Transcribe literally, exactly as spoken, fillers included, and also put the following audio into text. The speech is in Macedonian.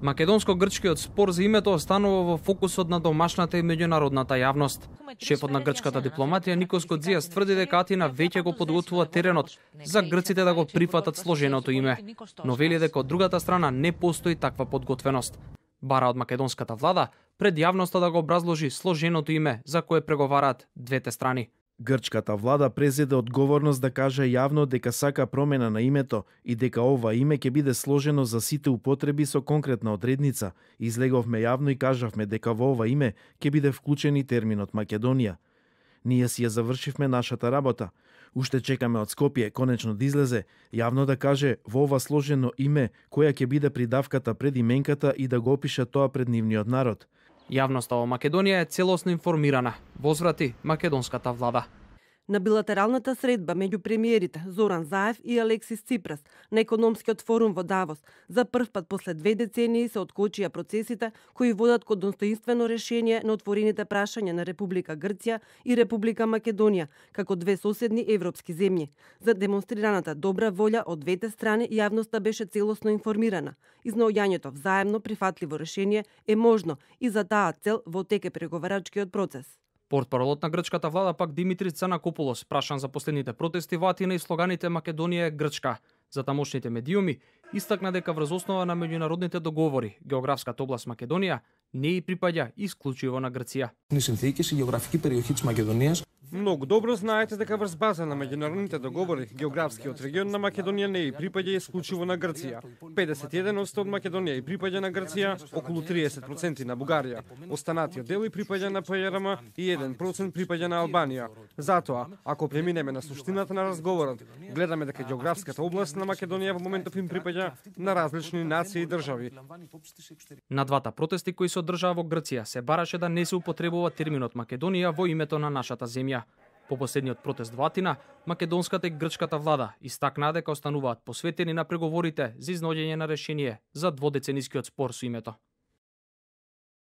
Македонско-грчкиот спор за името останува во фокусот на домашната и меѓународната јавност. Шефот на грчката дипломатија Никос Кодзијас тврди дека Атина веќе го подготвува теренот за грците да го прифатат сложеното име, но вели дека од другата страна не постои таква подготвеност. Бара од македонската влада пред јавноста да го образложи сложеното име за кое преговараат двете страни. Грчката влада презеде одговорност да каже јавно дека сака промена на името и дека ова име ќе биде сложено за сите употреби со конкретна одредница. Излеговме јавно и кажавме дека во ова име ќе биде вклучен и терминот Македонија. Ние си ја завршивме нашата работа. Уште чекаме од Скопје конечно да излезе, јавно да каже во ова сложено име која ќе биде придавката пред именката и да го опише тоа пред нивниот народ. Јавноста во Македонија е целосно информирана, возврати македонската влада. На билатералната средба меѓу премиерите Зоран Заев и Алексис Ципрас на економскиот форум во Давос за прв пат после две децении се откочија процесите кои водат кон достоинствено решение на отворените прашања на Република Грција и Република Македонија како две соседни европски земји. За демонстрираната добра волја од двете страни јавноста беше целосно информирана. Изнаоѓањето взаемно прифатливо решение е можно и за таа цел во тек е преговарачкиот процес. Портпаролот на грчката влада пак Димитрис Цанакопулос прашан за последните протести во Атина и слоганите Македонија е Грчка. За тамошните медиуми истакна дека врз основа на меѓународните договори географската област Македонија не и припаѓа исклучиво на Грција. Многу добро знаете дека врз база на меѓународните договори географскиот регион на Македонија не и припаѓа исклучиво на Грција. педесет и еден одсто од Македонија и припаѓа на Грција, околу триесет проценти на Бугарија. Останатиот дел и припаѓа на ПЈРМ и еден процент припаѓа на Албанија. Затоа, ако преминеме на суштината на разговорот, гледаме дека географската област на Македонија во моментов им припаѓа на различни нации и држави. На двата протести кои се одржаа во Грција се бараше да не се употребува терминот Македонија во името на нашата земја. По последниот протест во Атина, македонската и грчката влада истакнаа дека остануваат посветени на преговорите за изнаоѓање на решение за дводеценискиот спор со името.